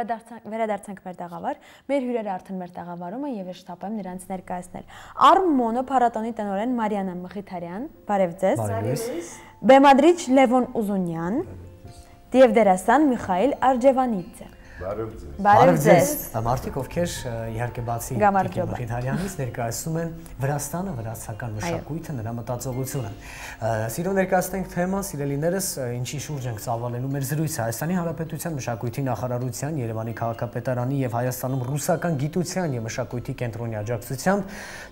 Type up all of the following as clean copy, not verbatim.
վերադարձանք մեր տաղավար, մեր հյուրերը արդեն մեր տաղավարում են եւ ես շտապ եմ նրանց ներկայացնել։ Արմոնո փառատոնի տնօրեն Մարիանա Մխիթարյան, բարև ձեզ։ Բեմադրիչ Լևոն Ուզունյան, եւ դերասան Միխայել Արջևանիցը։ Բարև ձեզ։ Մարդիկ ովքեր իհարկե բացի Մխիթարյանից ներկայացնում են Վրաստանը, վրացական մշակույթը, նրա մտածողությունը։ Սիրո ներկայացնենք թեման, սիրելիներս, ինչի շուրջ ենք ծավալելու մեր զրույցը։ Հայաստանի Հանրապետության մշակույթի նախարարության, Երևանի քաղաքապետարանի եւ Հայաստանում ռուսական գիտության եւ մշակույթի կենտրոնի աջակցությամբ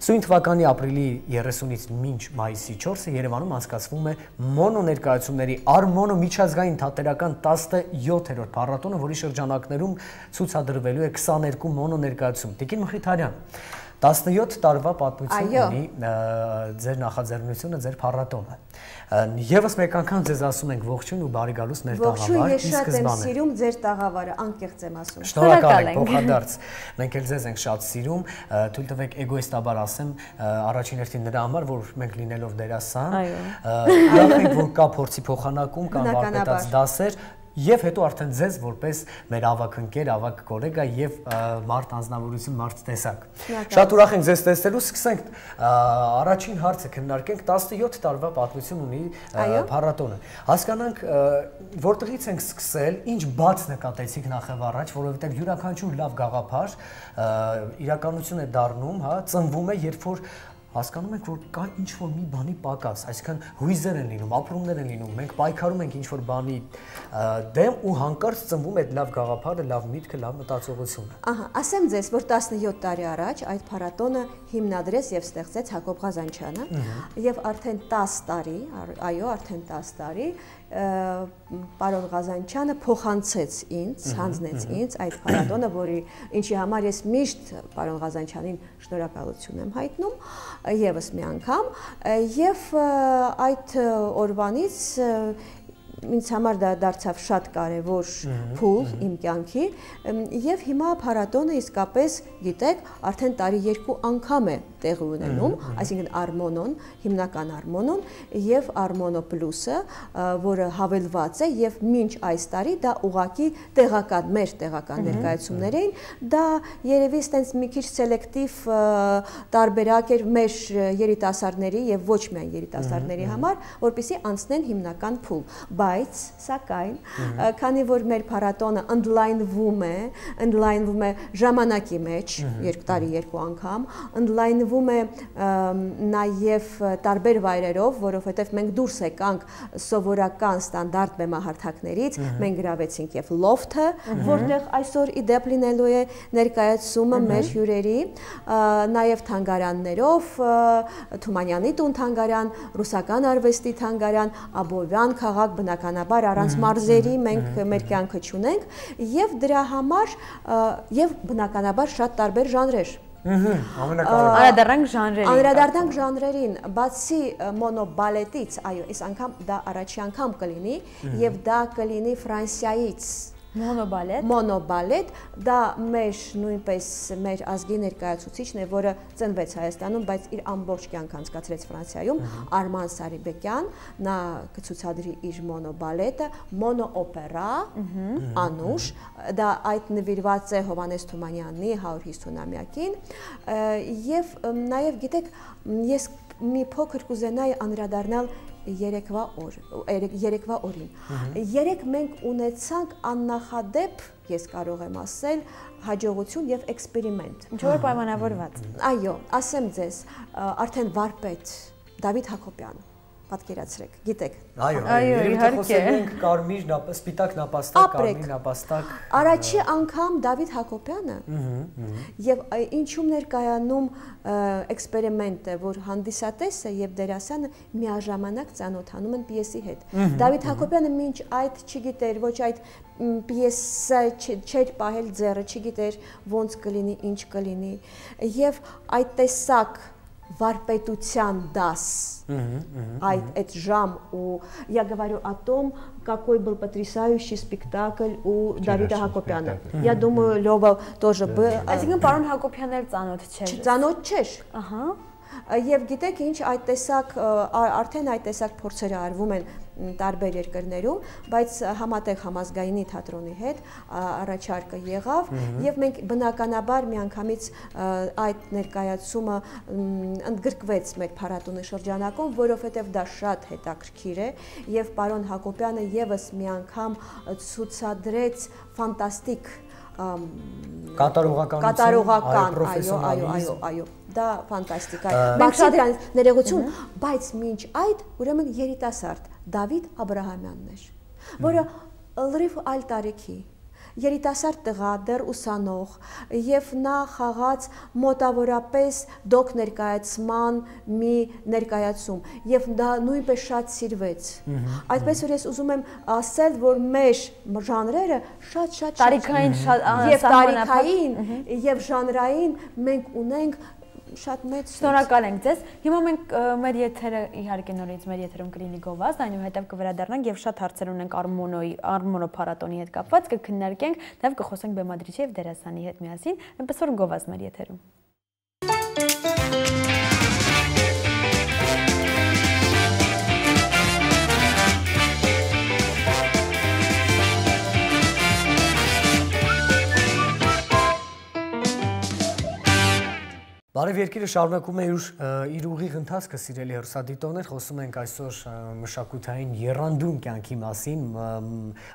սույն թվականի ապրիլի 30-ից մինչ մայիսի 4-ը Երևանում անցկացվում է մոնո ներկայացումների Արմոնո միջազգային թատերական 17-րդ փառատոնը, որի շրջանակներում ցուցադրվելու է 22 մոնո ներկայացում։ Տիկին Մխիթարյան, 17 տարվա պատմություն ունի ձեր նախաձեռնությունը, ձեր փառատոնը։ Եվս մեկ անգամ ձեզ ասում ենք ողջույն ու բարի գալուստ մեր տաղավար։ Ողջույն, ես շատ եմ սիրում ձեր տաղավարը, անկեղծ եմ ասում։ Շնորհակալ ենք, փոխադարձ։ Մենք էլ ձեզ ենք շատ սիրում, թույլ տվեք էգոիստաբար ասեմ, առաջին հերթին նրա համար, որ մենք լինելով դերասան, լավ է, որ կա փորձի փոխանակում, կան վարպետաց դասեր, եւ հետո արդեն ձեզ որպես մեր ավագ ընկեր, ավագ գոլեգա եւ մարդ անձնավորություն, մարդ տեսակ։ Շատ ուրախ ենք ձեզ տեսնելու, սկսենք առաջին հարցը քննարկենք, 17 տարվա պատմություն ունի փառատոնը։ Հասկանանք որտեղից ենք սկսել, ինչ բաց նկատեցիք նախև առաջ, որովհետեւ յուրաքանչյուր լավ գաղափար իրականություն է դառնում, հա, ծնվում է, երբ որ հասկանում ենք, որ կա ինչ-որ մի բանի պակաս, այսինքն հույզեր են լինում, ապրումներ են լինում, մենք պայքարում ենք ինչ-որ բանի դեմ ու հանկարծ ծնվում է այդ լավ գաղափարը, լավ միտքը, լավ մտածողությունը։ Ահա, ասեմ ձեզ, որ 17 տարի առաջ այդ փառատոնը հիմնադրեց եւ ստեղծեց Հակոբ Ղազանչյանը եւ արդեն 10 տարի, այո, արդեն 10 տարի պարոն Ղազանչյանը փոխանցեց ինձ, հանձնեց ինձ այդ փառատոնը, ինչի համար ես միշտ պարոն Ղազանչյանին շնորհակալություն եմ հայտնում եւս մի անգամ եւ այդ օրվանից ինձ համար դա դարձավ շատ կարևոր փուլ իմ կյանքի եւ հիմա փառատոնը իսկապես գիտեք արդեն տարի 2 անգամ է տեղի ունենում, այսինքն Արմոնոն, հիմնական Արմոնոն եւ Արմոնո պլյուսը, որը հավելված է եւ մինչ այս տարի դա ուղակի տեղական մեր տեղական ներկայացումներ էին, դա երևի ստենց մի քիչ սելեկտիվ տարբերակ էր մեր երիտասարդների եւ ոչ միայն երիտասարդների համար, որպեսզի անցնեն հիմնական փուլ, բայց սակայն քանի որ մեր փառատոնը ընդլայնվում է ժամանակի մեջ, տարի 2 անգամ, ընդլայնվում է նաև տարբեր վայրերով, որովհետև մենք դուրս եկանք սովորական ստանդարտ բեմահարթակներից, մենք գրավեցինք եւ լոֆթը, որտեղ այսօր իդեպ լինելու է ներկայացումը մեր հյուրերի, նաև թանգարաններով, Թումանյանի տուն թանգարան, ռուսական արվեստի թանգարան, Աբովյան քաղաք, բնականաբար առանց մարզերի մենք մեր կյանքը չունենք եւ դրա համար եւ բնականաբար շատ տարբեր ժանրեր Անդրադառնանք ժանրերին, բացի մոնոբալետից, այո, այս անգամ դա առաջի անգամ կլինի եւ դա կլինի Ֆրանսիայից Մոնոբալետ, դա նույնպես մեր ազգի ներկայացուցիչն է, որը ծնվեց Հայաստանում, բայց իր ամբողջ կյանքը անցկացրեց Ֆրանսիայում, Արման Սարիբեկյան, նա կցուցադրի իր մոնոբալետը, մոնոօպերա, Անուշ, դա այդ նվիրված է Հովհաննես Թումանյանի 150-ամյակին, եւ նաեւ գիտեք, ես մի փոքր կուզենայի անդրադառնալ երեկվա օրին։ Երեկ մենք ունեցանք աննախադեպ, ես կարող եմ ասել, հաջողություն եւ էքսպերիմենտ։ Ինչ-որ պայմանավորված։ Այո, ասեմ ձեզ, արդեն վարպետ Դավիթ Հակոբյանը, պատկերացրեք, գիտեք։ Այո, խոսենք կարմիր, սպիտակ նապաստակ, կարմիր նապաստակ։ Առաջի անգամ Դավիթ Հակոբյանը եւ ինչու ներկայանում էքսպերիմենտը, որ հանդիսատեսը եւ դերասանը միաժամանակ ծանոթանում են պիեսի հետ։ Դավիթ Հակոբյանը մինչ այդ չգիտեր, ոչ այդ պիեսը չէր պահել ձեռը, չգիտեր ոնց կլինի, ինչ կլինի եւ այդ տեսակ варпетության դաս, այդ ժամ, я говорю о том, какой был потрясающий спектакль у Давида Հակոբյանը. Я думаю, Лёва тоже был. Այսինքն պարոն Հակոբյանն էլ ծանոթ չէր։ Ծանոթ չէր։ Ահա։ Եվ գիտեք ինչ, արդեն այդ տեսակ փորձերը արվում են տարբեր երկրներում, բայց համատեղ համազգայինի թատրոնի հետ առաջարկը եղավ եւ մենք բնականաբար միանգամից այդ ներկայացումը ընդգրկվեց մեր փառատոնի շրջանակում, որովհետեւ դա շատ հետաքրքիր է եւ պարոն Հակոբյանը եւս մի անգամ ցուցադրեց ֆանտաստիկ կատարողական, այո, դա ֆանտաստիկ է։ Մենք շատ դրանից ներողություն, բայց մինչ այդ ուրեմն երիտասարդ Դավիթ Աբրահամյանն էր, որը լրիվ այլ տարիքի երիտասարդ տղա, դեռ ուսանող, եւ նա խաղաց մոտավորապես դոկ ներկայացման մի ներկայացում, եւ դա նույնպես շատ սիրվեց։ Այդպես որ ես ուզում եմ ասել, որ մեր ժանրերը շատ տարիքային եւ տարիքային եւ ժանրային մենք ունենք շատ մեծ։ Շնորհակալ ենք ձեզ։ Հիմա մենք մեր եթերը իհարկե նորից մեր եթերում կլինի գովազդ, այնուհետև կվերադառնանք եւ շատ հարցեր ունենք Արմոնո փառատոնի հետ կապված, կքննարկենք, նաեւ կխոսենք բեմադրիչի եւ դերասանի հետ միասին, այնպես որ գովազդ մեր եթերում։ Բարև երկիրը շարունակում է իր ուղիղ ընթացքը, սիրելի հեռուստադիտողներ, խոսում ենք այսօր մշակութային եռանդուն կյանքի մասին,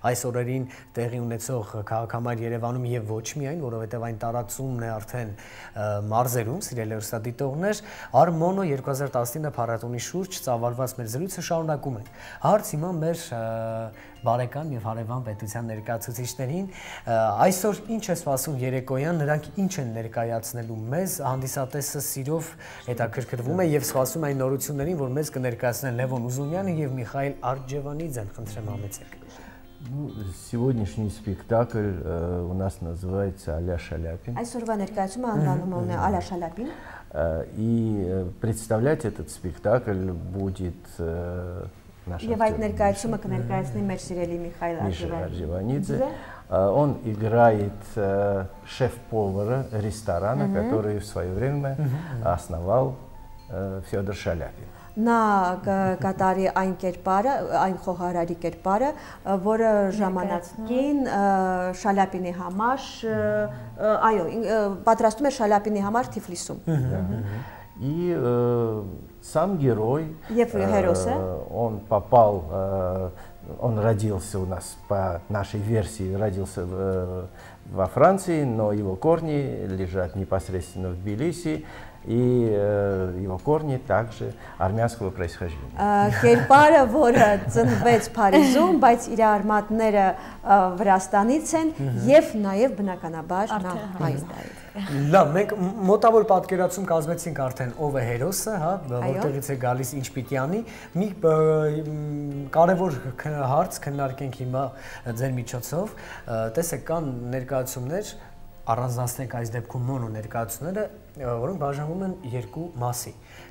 այս օրերին տեղի ունեցող քաղաքամար Երևանում եւ ոչ միայն, որովհետեւ այն տարածումն է արդեն մարզերում, սիրելի հեռուստադիտողներ, Արմոնո 2019 փառատոնի շուրջ ծավալված մեր զրույցը շարունակում ենք։ Հարց հիմա մեր բարեկամ եւ հարևան պետության ներկայացուցիչներին, այսօր ինչ է սպասում երեկոյան, նրանք ինչ են ներկայացնելու մեզ, հանդիսատեսը սիրով հետաքրքրվում է եւ սպասում այն նորություններին, որ մեզ կներկայացնեն Լևոն Ուզունյանը եւ Միխայել Արտջևանիձեն, խնդրեմ համեցեք։ Сегодняшний спектакль у нас называется «Аля Шаляпин». Այսօրվա ներկայացումը անվանումն է «Аля Шаляпин». И представлять этот спектакль будет Եվ այդ ներկայացումը կներկայացնի մեր սիրելի Միխայել Արտջևանիձե. Он играет шеф-повара ресторана, который в свое время основал Федор Шаляпин. Նա կատարի այն կերպարը, այն խոհարարի կերպարը, որը ժամանակին Շալապինի համար, այո, պատրաստում էր Շալապինի համար Թիֆլիսում։ И сам герой, он родился у нас по нашей версии, родился во Франции, но его корни лежат непосредственно в Тбилиси, и его корни также армянского происхождения. Կերպարը, որը ծնվեց Փարիզում, բայց իր արմատները Վրաստանից են եւ նաեւ բնականաբար նա հայ է։ Լավ, մենք մոտավոր պատկերացում կազմեցինք արդեն ով է հերոսը, հա, որտեղից է գալիս, ինչ պիտի անի։ Մի կարևոր հարց քննարկենք հիմա ձեր միջոցով։ Տեսեք, կան ներկայացումներ, առանձնացնենք այս դեպքում մոնո ներկայացումները, որոնք բաժանվում են երկու մասի։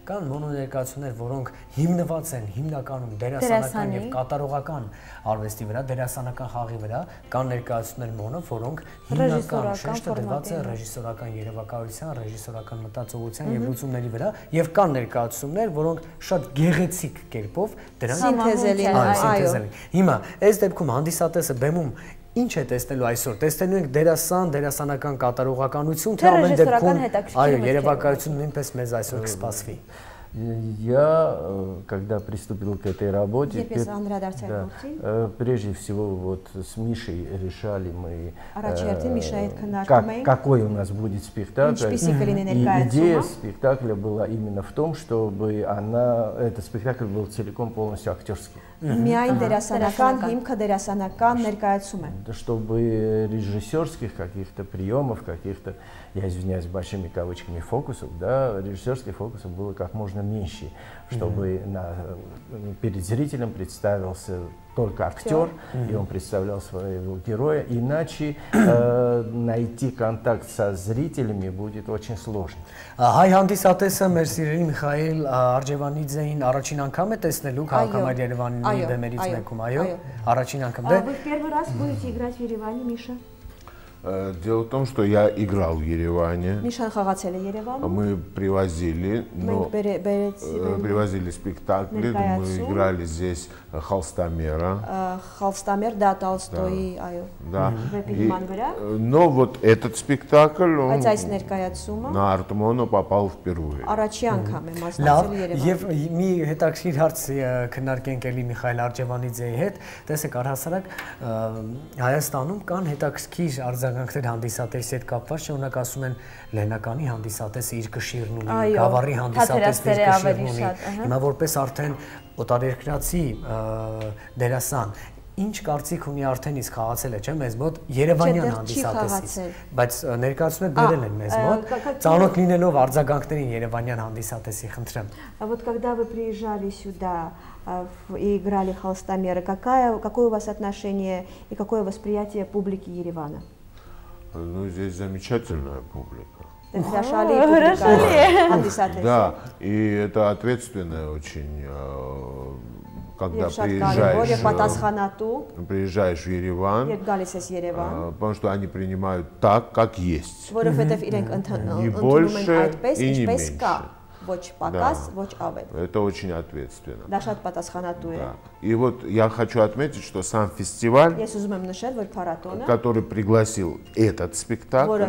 Կան մոնո ներկայացումներ, որոնք հիմնված են հիմնականում դերասանական եւ կատարողական արվեստի վրա, դերասանական խաղի վրա, կան ներկայացումներ մոնո, որոնք հիմնական շեշտը դրված է ռեժիսորական երևակայության, ռեժիսորական մտածողության եւ լուծումների վրա, եւ կան ներկայացումներ, որոնք շատ գեղեցիկ կերպով դրանք սինթեզել են։ Հիմա այս դեպքում հանդիսատեսը բեմում ինչ է տեսնելու այսօր, տեսնելու ենք դերասան, դերասանական կատարողականություն, թե ամեն դեպքում, այո, երևակայություն նույնպես մեզ այսօր կսպասվի։ Я, когда приступил к этой работе, прежде всего вот с Мишей решали мы, какой у нас будет спектакль. И идея спектакля была именно в том, чтобы этот спектакль был целиком полностью актерский. Чтобы режиссерских каких-то приемов, каких-то, я извиняюсь, большими кавычками фокусов, да, режиссерских фокусов было как можно меньше, чтобы перед зрителем представился только актер, и он представлял своего героя, иначе найти контакт со зрителями будет очень сложно. Հայ հանդիսատեսը մեր սիրելի Միխայել Արտջևանիձեին առաջին անգամ է տեսնելու քաղաքամար Երևանի բեմերից մեկում, այո, առաջին անգամ։ Вы в первый раз будете играть в Ереване, Миша? Дело в том, что я играл в Ереване. Նշան խաղացել է Երևանում։ Мы привозили спектакли, мы играли здесь Холстомера. Холстомер, да, Толстой, այո։ Да. Но вот этот спектакль, он на Артмоно попал впервые. Առաջի անգամ եմ մասնակցել Երևանում։ Եվ մի հետաքրքիր հարց քննարկենք էլի Միխայել Արջևանիձեի հետ, տեսեք առհասարակ Հայաստանում կան հետաքրքիր արձագանքներ հանդիսատեսի հետ կապված, օրինակ ասում են Լեննականի հանդիսատեսը իր կշիռն ունի, Գավառի հանդիսատեսը իր կշիռն ունի։ Հիմա որպես արդեն օտարերկրացի դերասան, ինչ կարծիք ունի արդեն իսկ խաղացել է, չէ՞, մեզ մոտ Երևանյան հանդիսատեսից, բայց ներկայացնում եք բերել են մեզ մոտ, ծանոթ լինելով արձագանքներին Երևանյան հանդիսատեսի, խնդրեմ։ Вот когда вы приезжали сюда и играли Холстомера, какое у вас отношение и какое восприятие публики Еревана? Ну, здесь замечательная публика. Да, и это ответственная очень, когда приезжаешь в Ереван, потому что они принимают так, как есть. Не больше и не меньше. Это очень ответственно. Да. И вот я хочу отметить, что сам фестиваль, который пригласил этот спектакль,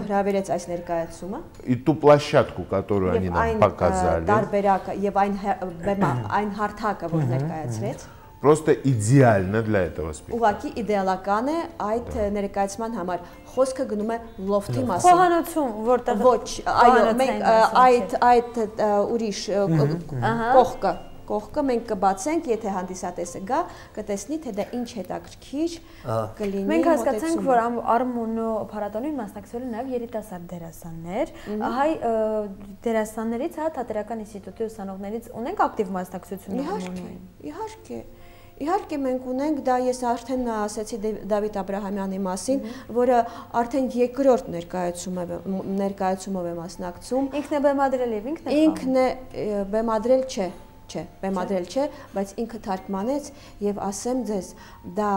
и ту площадку, которую они нам показали, просто идеально для этого спектакля. Խոսքը գնում է լոֆթի մասին։ Խոհանոցում, որտեղ ոչ, այո, մենք այդ ուրիշ կողքը մենք կբացենք, եթե հանդիսատեսը գա, կտեսնի, թե դա ինչ հետաքրքիր կլինի։ Մենք հասկացանք, որ Արմոնո փառատոնին մասնակցել են նաև երիտասարդ դերասաններ, հայ դերասաններից, Թատերական ինստիտուտի ուսանողներից ունենք ակտիվ մասնակցություն Իհարկե։ Իհարկե մենք ունենք, դա ես արդեն ասացի Դավիթ Աբրահամյանի մասին, որը արդեն երկրորդ ներկայացումով է մասնակցում։ Ինքն է բեմադրել եւ ինքն է բեմադրել բեմադրել չէ, բայց ինքը թարգմանեց եւ ասեմ ձեզ, դա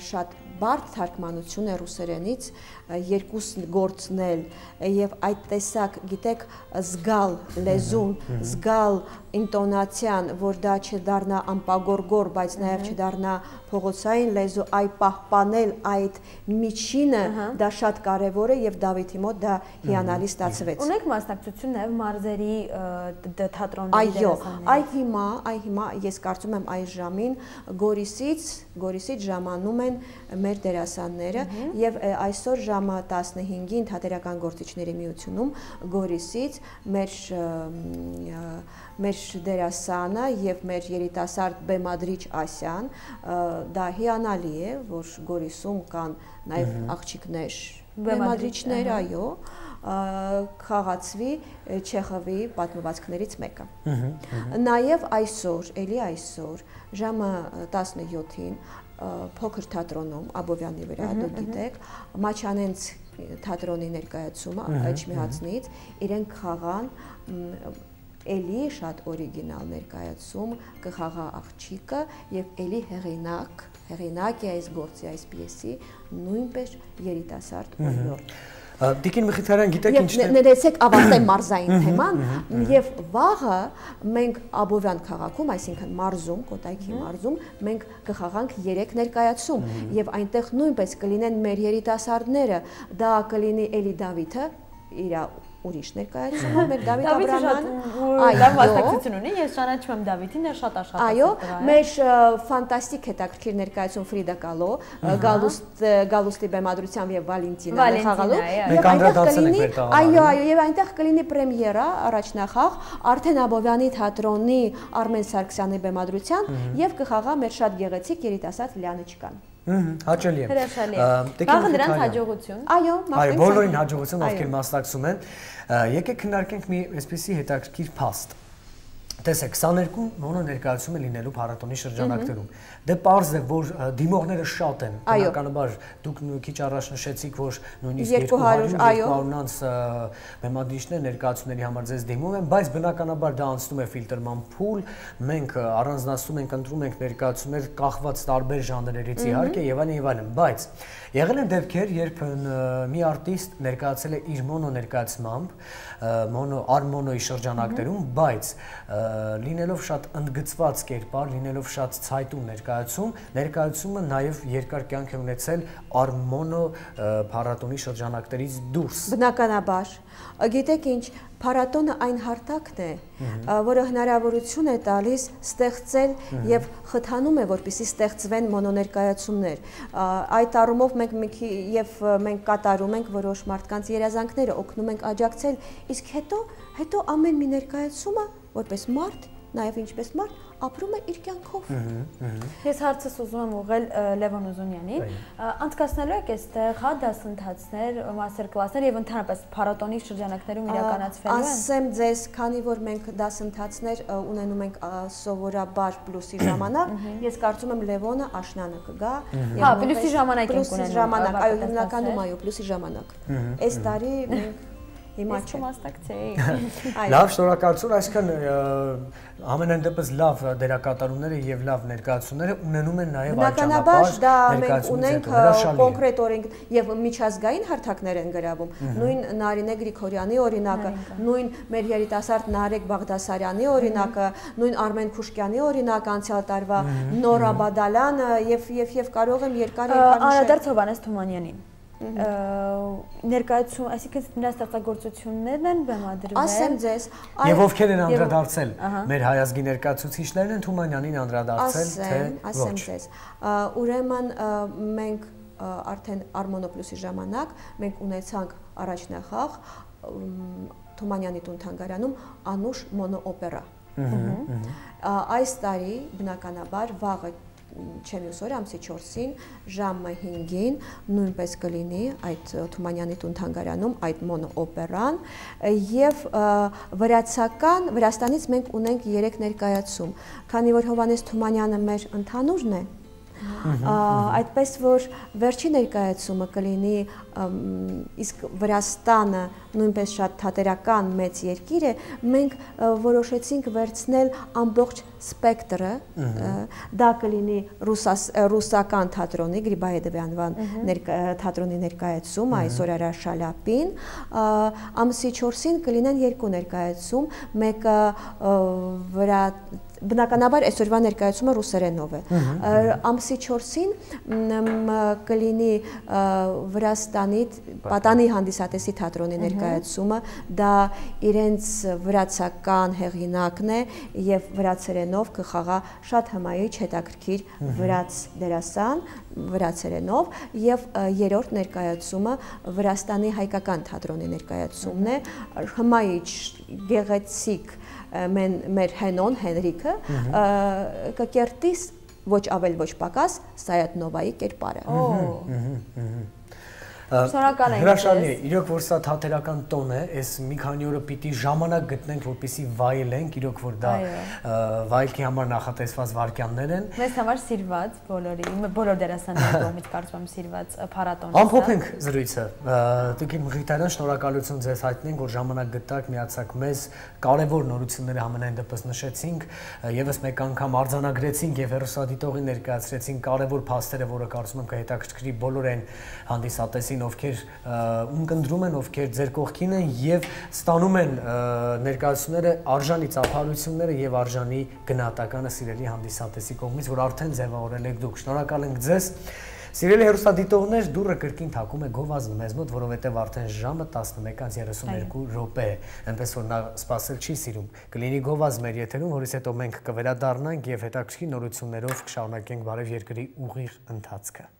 շատ բարդ թարգմանություն է ռուսերենից, երկուս գործնել եւ այդ տեսակ, գիտեք, զգալ լեզուն, զգալ ինտոնացիան, որ դա չդառնա անպագորգոր, բայց նաեւ չդառնա փողոցային լեզու, այ պահպանել այդ միջինը, դա շատ կարեւոր է եւ Դավիթի մոտ դա հիանալի ստացվեց։ Ունեք մասնակցություն նաեւ մարզերի թատրոնների դերասանների։ Այ հիմա ես կարծում եմ այս ժամին Գորիսից ժամանում են մեր դերասանները եւ այսօր ժամը 15-ին Թատերական գործիչների միությունում Գորիսից մեր դերասանը եւ մեր երիտասարդ բեմադրիչ Ասյան, դա հիանալի է, որ Գորիսում կան նաեւ աղջիկներ, բեմադրիչներ, այո, խաղացվի Չեխովի պատմվածքներից մեկը։ Նաև այսօր, էլի այսօր, ժամը 17-ին փոքր թատրոնում Աբովյանի վրա, դուք գիտեք, Մաչանենց թատրոնի ներկայացումը Էջմիածնից իրենք խաղան էլի շատ օրիգինալ ներկայացում կխաղա աղջիկը եւ էլի հեղինակ է այս գործի, այս պիեսի նույնպես երիտասարդ օրիորդ։ Տիկին Մխիթարյան, գիտեք ինչն է։ Ներեցեք ավարտեմ մարզային թեման եւ վաղը մենք Աբովյան քաղաքում, այսինքն մարզում, Կոտայքի մարզում, մենք կխաղանք 3 ներկայացում եւ այնտեղ նույնպես կլինեն մեր երիտասարդները, դա կլինի Էլի Դավիթը, իր ուրիշ ներկայացումը, մեր Դավիթ Աբրահամյանը, լավ մասնակցություն ունի, ես ճանաչում եմ Դավիթին, նա շատ աշխատած է։ Այո, մեր ֆանտաստիկ հետաքրքիր ներկայացում Ֆրիդա Կալո, Գալուստի բեմադրությամբ եւ Վալենտինա խաղալու։ Մենք անդրադարձել ենք այո, եւ այնտեղ կլինի պրեմիերա, առաջնախաղ Արթեն Աբովյանի թատրոնի Արմեն Սարգսյանի բեմադրությամբ եւ կխաղա մեր շատ գեղեցիկ երիտասարդ Լիանեչկան։ Հաճելի է։ Վաղը նրանց հաջողություն։ Այո, բոլորին հաջողություն, ովքեր մասնակցում են։ Եկեք քննարկենք մի այսպիսի հետաքրքիր փաստ։ Տեսեք, 22 մոնո ներկայացում է լինելու փառատոնի շրջանակներում։ Դե պարզ է, որ դիմողները շատ են։ Բնականաբար դուք քիչ առաջ նշեցիք, որ նույնիսկ 200-200-անց բեմադրիչներ ներկայացումների համար ձեզ դիմում են, բայց բնականաբար դա անցնում է ֆիլտրման փուլ, մենք առանձնացնում ենք, ընտրում ենք ներկայացումներ կախված տարբեր ժանրերից իհարկե եւ այլն, բայց եղել են դեպքեր, երբ մի արտիստ ներկայացել է իր մոնո ներկայացմամբ, արմոնոյի շրջանակներում, բայց լինելով շատ ընդգծված կերպար, լինելով շատ ցայտուն ներկայացումը նաև երկար կյանք է ունեցել արմոնո փառատոնի շրջանակներից դուրս։ Բնականաբար, գիտեք ինչ, փառատոնը այն հարթակն է, որը հնարավորություն է տալիս ստեղծել եւ խթանում է, որպեսզի ստեղծվեն մոնոներկայացումներ։ Այդ առումով մենք կատարում ենք որոշ մարդկանց երազանքները, օգնում ենք աջակցել, իսկ հետո ամեն մի ներկայացումը որպես մարդ, նաեւ ինչպես մարդ ապրում է իր կյանքով։ Ես հարցս ուզում եմ ուղղել Լևոն Ուզունյանին, անցկացնելու եք այստեղ հա դասընթացներ, մաստեր կլասներ եւ ընդհանրապես փառատոնի շրջանակներում իրականացվելու են։ Ասեմ ձեզ, քանի որ մենք դասընթացներ ունենում ենք սովորաբար պլյուսի ժամանակ, ես կարծում եմ Լևոնը աշնանը կգա։ Հա, պլյուսի ժամանակ ենք ունենում։ Այո, հիմնականում այո, պլյուսի ժամանակ։ Այս տարի մենք Հիմա չմաստակցեի։ Լավ, շնորհակալություն, այսինքն ամենայն դեպս լավ դերակատարումները եւ լավ ներկայացումները ունենում են նաեւ այլճանապարհ ներկայացումներ։ Մենք ունենք կոնկրետ օրենք եւ միջազգային հարթակներ են գրավում։ Նույն Նարինե Գրիգորյանի օրինակը, նույն մեր երիտասարդ Նարեկ Բաղդասարյանի օրինակը, նույն Արմեն Քուշկյանի օրինակը անցյալ տարվա, Նորա Բադալյանը եւ կարող եմ երկար Անդրադարձ Հովհաննես Թումանյանին։ Ներկայացում, այսինքն նրա ստեղծագործություններն են բեմադրվել։ Ասեմ ձեզ, եւ ովքեր են անդրադարձել մեր հայազգի ներկայացուցիչներն են Թումանյանին անդրադարձել, թե ոչ։ Ասեմ ձեզ, ուրեմն մենք արդեն Արմոնո պլյուսի ժամանակ մենք ունեցանք առաջնախաղ Թումանյանի տուն-թանգարանում Անուշ մոնոօպերա։ Այս տարի բնականաբար վաղը չեմ ուսոր ամսի 4-ին ժամը 5-ին նույնպես կլինի այդ Թումանյանի տուն-թանգարանում այդ մոնոօպերան եւ Վրաստանից մենք ունենք 3 ներկայացում, քանի որ Հովհաննես Թումանյանը մեր ընդհանուրն է, այդպես որ վերջի ներկայացումը կլինի, իսկ Վրաստանը նույնպես շատ թատերական մեծ երկիր է, մենք որոշեցինք վերցնել ամբողջ սպեկտրը, դա կլինի ռուսական թատրոնի Գրիբայեդովի անվան թատրոնի ներկայացում, այսօր Արա Շալապին, ամսի 4-ին կլինեն 2 ներկայացում, մեկը բնականաբար այսօրվա ներկայացումը ռուսերենով է, ամսի 4-ին կլինի Վրաստանի Պատանի հանդիսատեսի թատրոնի ներկայացումը, դա իրենց վրացական հեղինակն է եւ վրացերենով կխաղա շատ հմայիչ հետաքրքիր վրաց դերասան վրացերենով եւ երրորդ ներկայացումը Վրաստանի հայկական թատրոնի ներկայացումն է, հմայիչ գեղեցիկ մեր Հենոն Հենրիկը կկերտի ոչ ավել ոչ պակաս Սայաթնովայի կերպարը։ Շնորհակալ ենք։ Հրաշալի է, իրոք որ սա թատերական տոն է, այս մի քանի օրը պիտի ժամանակ գտնենք, որպեսզի վայելենք, իրոք որ դա վայելքի համար նախատեսված վայրկյաններ են։ Մեզ համար սիրված բոլոր դերասանների կողմից կարծում եմ սիրված փառատոն է։ Ամփոփենք զրույցը։ Տիկին Մխիթարյան, շնորհակալություն ձեզ հայտնենք, որ ժամանակ գտաք, միացաք մեզ, կարևոր նորությունները համենայն դեպս նշեցինք, եւս մեկ անգամ արձանագրեցինք եւ հերոսադիտողին ներկայացրեցինք կարևոր փաստերը, որը կարծում եմ կհետաքրքրի բոլոր այն հանդիսատեսին, ովքեր ունկնդրում են, ովքեր ձեր կողքին են եւ ստանում են ներկայացումները արժանի ծափարությունները եւ արժանի գնահատականը սիրելի հանդիսատեսի կողմից, որ արդեն ձևավորել եք դուք։ Շնորհակալ ենք ձեզ։ Սիրելի հեռուստադիտողներ, դուռը կրկին թակում է գովազդը մեզ մոտ, որովհետև արդեն ժամը 11:32 րոպե է, այնպես որ նա սպասել չի սիրում։ Կլինի գովազդ մեր եթերում, որից հետո մենք կվերադառնանք եւ հետաքրքիր նորություններով կշարունակենք բարև երկրի ուղիղ ընթացքը։